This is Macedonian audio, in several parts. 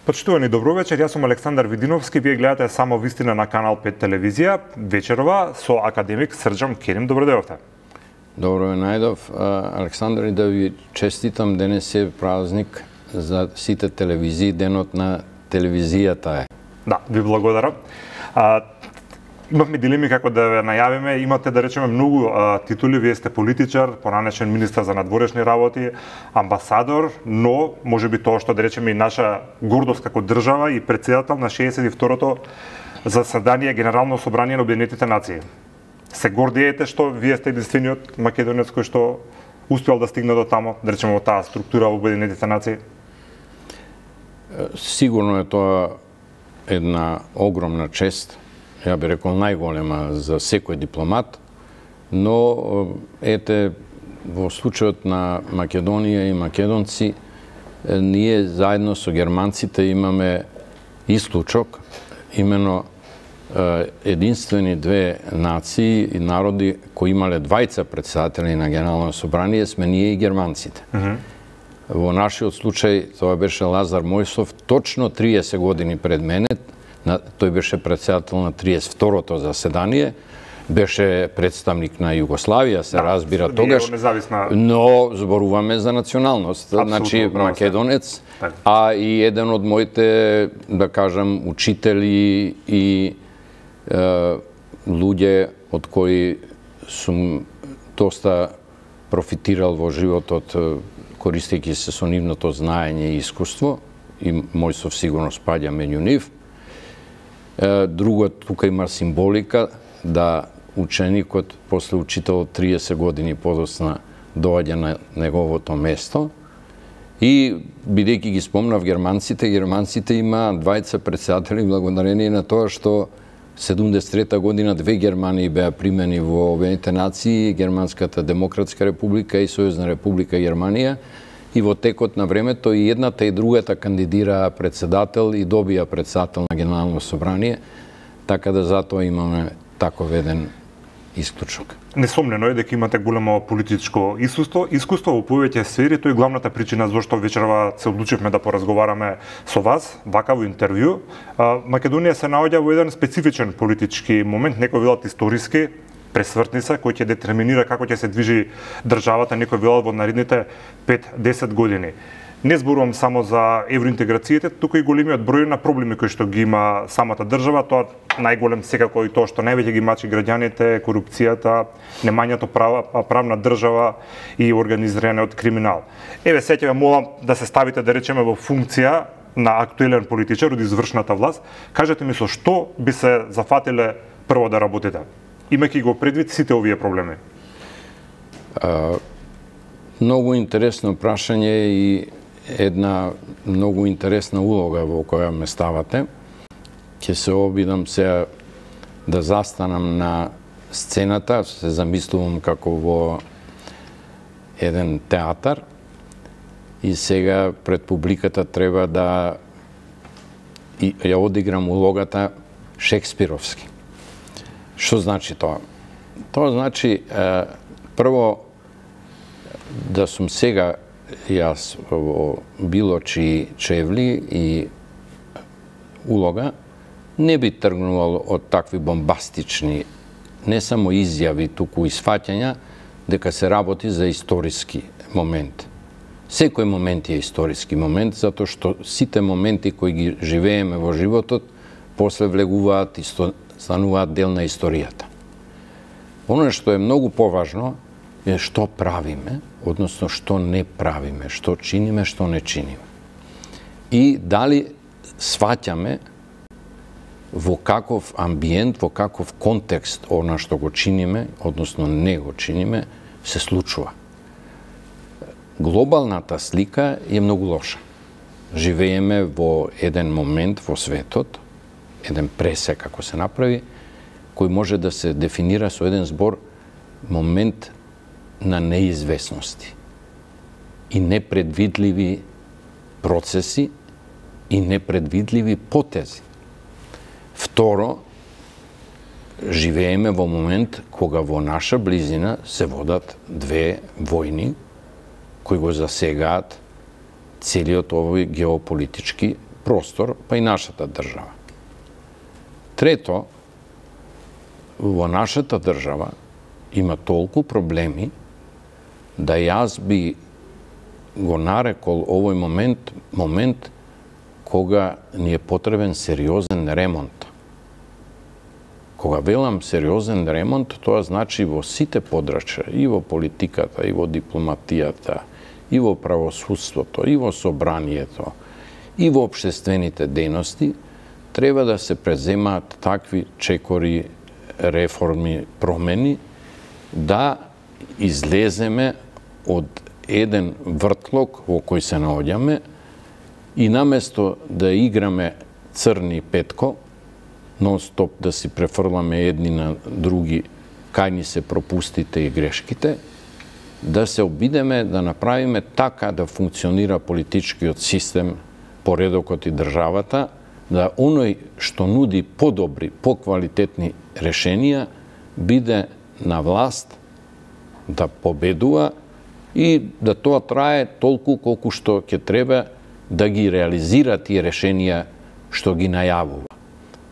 Почитувани, добро вечер, јас сум Александар Видиновски, вие гледате само вистина на Канал 5 телевизија, вечерова со академик Срџан Керим. Добро дојдовте. Добро ве најдов, Александар, и да ви честитам, денес е празник за сите телевизии, денот на телевизијата е. Да, ви благодарам. Имавме дилеми како да ве најавиме, имате да речеме многу титули, вие сте политичар, поранешен министар за надворешни работи, амбасадор, но можеби тоа што да речеме и наша гордост како држава и претседател на 62-то заседание Генерално собрание на Обединетите нации. Се гордиете што вие сте единствениот македонец кој што успел да стигне до тамо, да речеме во таа структура во Обединетите нации? Сигурно е тоа една огромна чест, ја би рекол најголема за секој дипломат, но ете, во случајот на Македонија и македонци, ние заедно со германците имаме исклучок, имено единствени две нации и народи кои имале двајца председатели на Генерално собрание, сме ние и германците. Во нашиот случај тоа беше Лазар Мојсов, точно 30 години пред мене. Тој беше председател на 32-то заседание, беше представник на Југославија, се разбира тогаш, но зборуваме за националност, значи македонец, а и еден од моите, да кажам, учители и луѓе од кои сум доста профитирал во животот, користејќи се со нивното знаење и искуство, и Мојсов сигурно спаѓа меѓу нив. Друго, тука има символика да ученикот после учител 30 години подосна доаѓа на неговото место. И бидејќи ги спомнав германците има двајца председатели благодарение на тоа што 73-та година две Германии беа примени во Обединетите нации, Германската демократска република и Сојузна република Германија. И во текот на времето и едната и другата кандидираа председател и добија председател на Генерално собрание, така да затоа имаме таков еден исклучок. Несомнено е дека имате големо политичко искуство во повеќе сфери, тоа е главната причина зашто вечерва се одлучивме да поразговараме со вас, вака во интервју. Македонија се наоѓа во еден специфичен политички момент, некој велат историски, пресвртница, кој ќе детерминира како ќе се движи државата, некој велат во наредните 5-10 години. Не зборувам само за евроинтеграциите, туку и големиот број на проблеми кои што ги има самата држава, тоа најголем секако и тоа што највеќе ги мачи граѓаните, корупцијата, немањето правна држава и организираниот криминал. Еве, се ќе ве молам да се ставите, да речеме, во функција на актуелен политичар од извршната власт. Кажете ми со што би се зафатиле прво да работите, имајќи го предвид сите овие проблеми? Многу интересно прашање и една многу интересна улога во која ме ставате. Ќе се обидам сега да застанам на сцената, се замислувам како во еден театар и сега пред публиката треба да ја одиграм улогата шекспировски. Што значи тоа? Тоа значи, прво, да сум сега јас во било чии чевли и улога, не би тргнувал од такви бомбастични, не само изјави, туку и сфаќања, дека се работи за историски момент. Секој момент е историски момент, затоа што сите моменти кои ги живееме во животот, после влегуваат и стануваат дел на историјата. Оно што е многу поважно е што правиме, односно што не правиме, што чиниме, што не чиниме. И дали сваќаме во каков амбиент, во каков контекст она што го чиниме, односно не го чиниме, се случува. Глобалната слика е многу лоша. Живееме во еден момент во светот, еден пресек, ако се направи, кој може да се дефинира со еден збор момент на неизвестности и непредвидливи процеси и непредвидливи потези. Второ, живееме во момент кога во наша близина се водат две војни кои го засегаат целиот овој геополитички простор, па и нашата држава. Трето, во нашата држава има толку проблеми да јас би го нарекол овој момент кога ни е потребен сериозен ремонт. Кога велам сериозен ремонт, тоа значи во сите подрачја, и во политиката, и во дипломатијата, и во правосудството, и во собранието, и во општествените дејности, треба да се преземаат такви чекори, реформи, промени, да излеземе од еден вртлок во кој се наоѓаме и наместо да играме црни петко, нон-стоп да си префрламе едни на други кај ни се пропустите и грешките, да се обидеме да направиме така да функционира политичкиот систем, поредокот и државата, да оној што нуди подобри, поквалитетни решенија, биде на власт, да победува и да тоа трае толку колку што ќе треба да ги реализира тие решенија што ги најавува.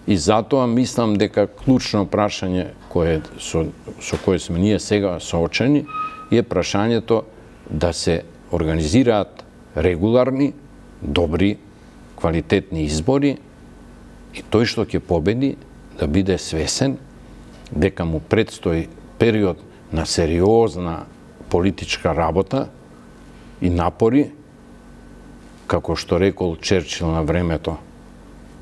И затоа мислам дека клучно прашање со кое сме ние сега соочени е прашањето да се организираат регуларни, добри, квалитетни избори и тој што ќе победи да биде свесен дека му предстои период на сериозна политичка работа и напори, како што рекол Черчил на времето,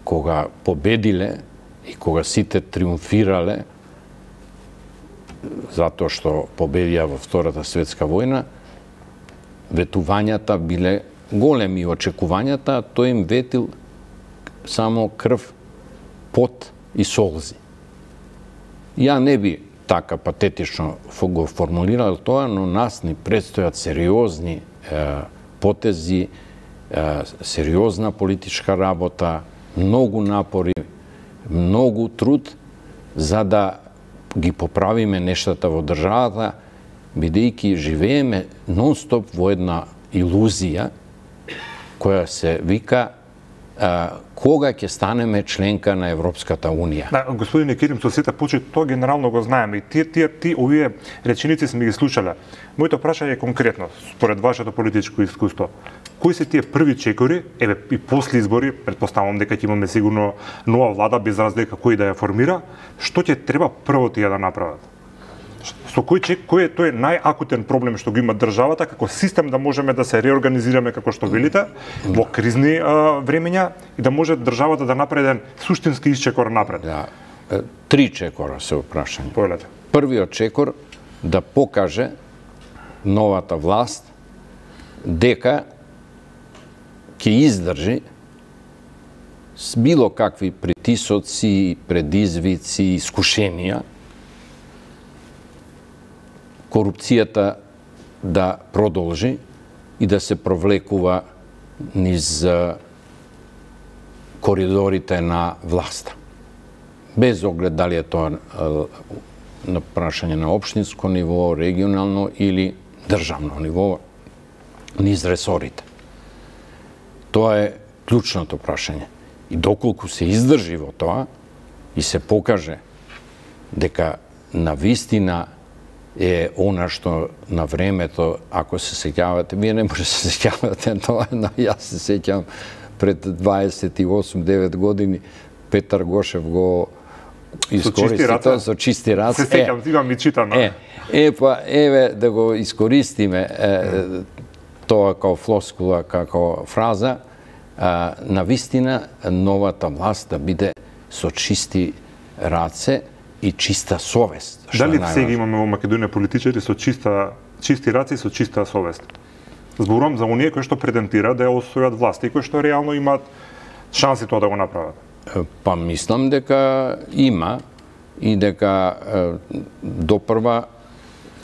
кога победиле и кога сите триумфирале, затоа што победија во Втората светска војна, ветувањата биле големи, очекувањата, тој им ветил само крв, пот и солзи. Ја не би така патетично го формулирал тоа, но нас ни предстојат сериозни потези, сериозна политичка работа, многу напори, многу труд за да ги поправиме нештата во државата, бидејќи живееме нон-стоп во една илузија која се вика кога ќе станеме членка на Европската Унија. Да, господине Керим, со сите почит, тоа генерално го знаеме и овие реченици сме ги слушале. Моето прашање е конкретно, според вашето политичко искуство. Кои се тие први чекори, еве и после избори, претпоставувам дека ќе имаме сигурно нова влада без разлика кој да ја формира, што ќе треба прво тие да направат? Со кој е тој најакутен проблем што го има државата, како систем да можеме да се реорганизираме како што велите, во кризни времења и да може државата да направи еден суштински исчекор напред? Да, 3 чекора се опрашање. Повелете. Првиот чекор да покаже новата власт дека ќе издржи с било какви притисоци, предизвици, искушенија, корупцијата да продолжи и да се провлекува низ коридорите на власта. Без оглед дали е тоа на прашање на општинско ниво, регионално или државно ниво, низ ресорите. Тоа е клучното прашање. И доколку се издржи во тоа и се покаже дека навистина е она што на времето, ако се сеќавате, вие не може да се сеќавате тоа, но јас се сеќам пред 28-9 години Петар Гошев го искористи тоа со чисти раце. Се сеќам, имам и читано. Еве да го искористиме тоа како флоскула, како фраза, навистина новата власт да биде со чисти раце и чиста совест. Дали сега имаме во Македонија политичари со чисти раце и со чиста совест? Зборувам за оние кои што претендира да ја освојат власт и кои што реално имаат шанси тоа да го направат. Па мислам дека има и дека допрва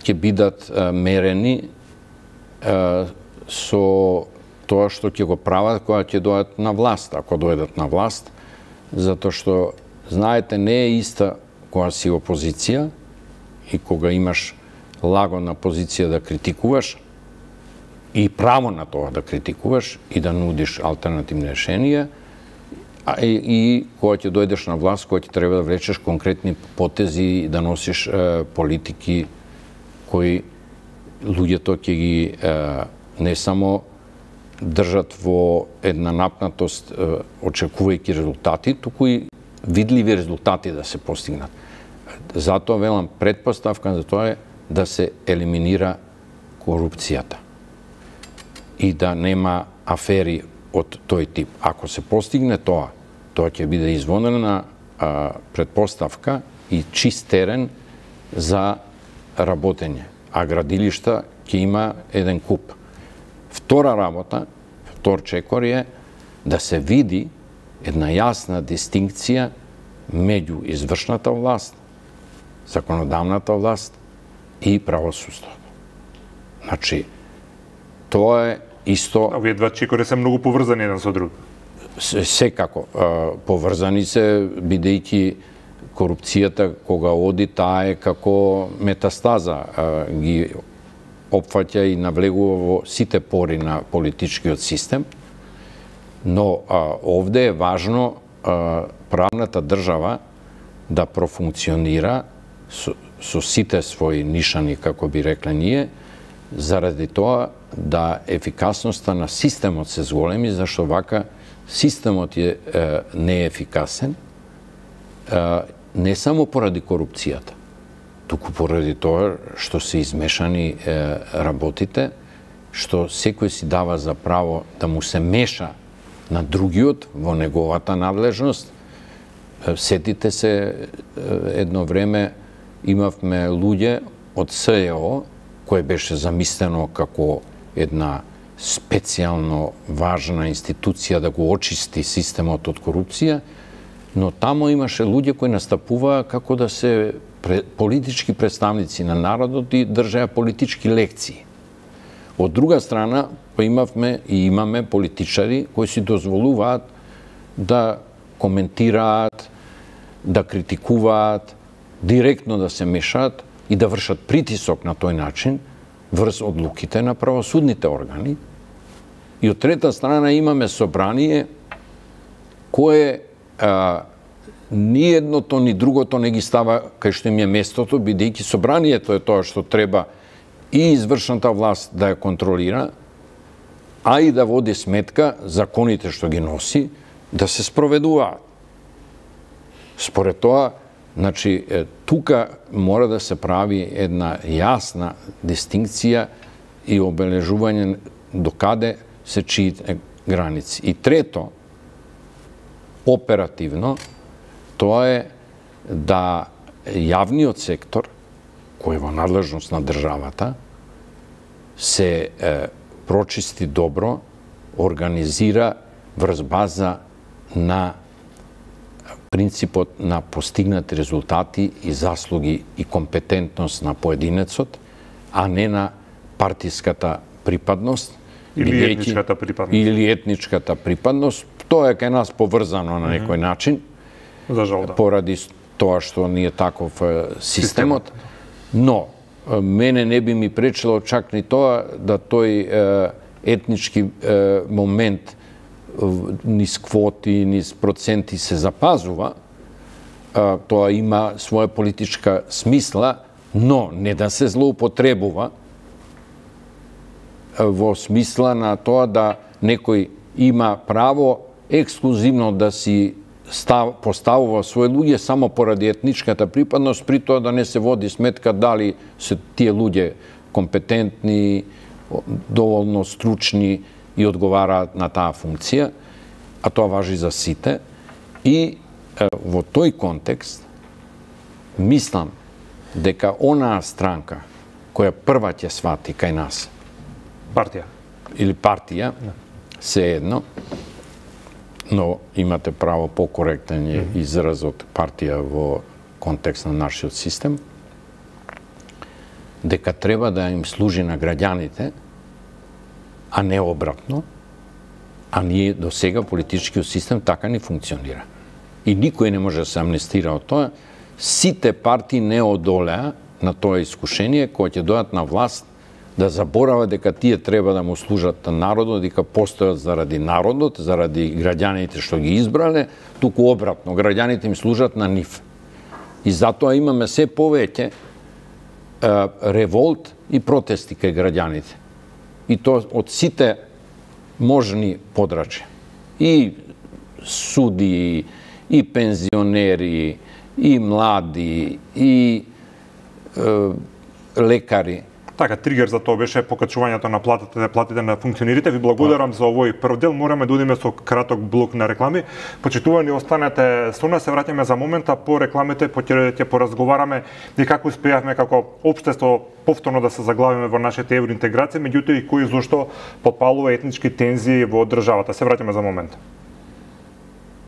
ќе бидат мерени со тоа што ќе го прават кога ќе дојдат на власт, ако дојдат на власт, затоа што знаете не е иста кога си опозиција и кога имаш лагодна позиција да критикуваш и право на тоа да критикуваш и да нудиш алтернативни решенија, и кога ќе дојдеш на власт, кога ќе треба да влечеш конкретни потези и да носиш политики кои луѓето ќе ги не само држат во една напнатост очекувајќи резултати, туку и видливи резултати да се постигнат. Затоа велам, предпоставка за тоа е да се елиминира корупцијата и да нема афери од тој тип. Ако се постигне тоа ќе биде извонена предпоставка и чист терен за работење, а градилишта ќе има еден куп. Втора работа, втор чекор е да се види една јасна дистинкција меѓу извршната власт, законодавната власт и правосудството. Значи, тоа е исто... Овие два чекори се многу поврзани еден со друг. Секако поврзани се, бидејќи корупцијата кога оди, таа е како метастаза, ги опфаќа и навлегува во сите пори на политичкиот систем, но овде е важно правната држава да профункционира со сите своји нишани, како би рекле ние, заради тоа да ефикасноста на системот се зголеми, зашто вака системот е неефикасен, не само поради корупцијата, туку поради тоа што се измешани работите, што секој си дава за право да му се меша на другиот во неговата надлежност. Сетите се, едно време имавме луѓе од СЕО, кој беше замислено како една специјално важна институција да го очисти системот од корупција, но тамо имаше луѓе кои настапуваа како да се политички представници на народот и држаја политички лекции. Од друга страна, имавме и имаме политичари кои си дозволуваат да коментираат, да критикуваат, директно да се мешаат и да вршат притисок на тој начин врз одлуките на правосудните органи. И од трета страна имаме собрание кое ни едното ни другото не ги става кај што им е местото, бидејќи собранието е тоа што треба и извршната власт да ја контролира, а и да води сметка законите што ги носи да се спроведуваат. Според тоа, значи, тука мора да се прави една јасна дистинкција и обележување до каде се чиите граници. И трето, оперативно, тоа е да јавниот сектор, кој е во надлежност на државата, се прочисти добро, организира врз база на принципот на постигнати резултати и заслуги и компетентност на поединецот, а не на партиската припадност или етничката припадност. Или етничката припадност. Тоа е кај нас поврзано на некој начин, за жал, да. Поради тоа што ни е таков системот. Но, мене не би ми пречило чак ни тоа да тој етнички момент низ квоти, низ проценти се запазува, тоа има своја политичка смисла, но не да се злоупотребува во смисла на тоа да некој има право ексклузивно да си поставува своји луѓе само поради етничката припадност, при тоа да не се води сметка дали се тие луѓе компетентни, доволно стручни и одговараат на таа функција, а тоа важи за сите. И во тој контекст мислам дека онаа странка која прва ќе свати кај нас, партија, се едно, но имате право покоректен е изразот партија во контекст на нашиот систем, дека треба да им служи на граѓаните, а не обратно, а ние до сега политичкиот систем така не функционира. И никој не може да се амнестира од тоа. Сите партии не одолеа на тоа искушение, кога ќе дојдат на власт да заборава дека тие треба да му служат на народот, дека постојат заради народот, заради граѓаните што ги избрале, туку обратно, граѓаните им служат на нив. И затоа имаме се повеќе револт и протести кај граѓаните. И тоа од сите можни подрачја. И суди, и пензионери, и млади, и лекари. Така, тригер за тоа беше покачувањето на платите на функционерите. Ви благодарам за овој прв дел. Мораме да одиме со краток блок на реклами. Почитувани, останете со нас, се враќаме за момента по рекламите, ќе поразговараме и како успеавме како општество повторно да се заглавиме во нашите евроинтеграција, меѓутоа и кој зошто подпалува етнички тензии во државата. Се враќаме за момент.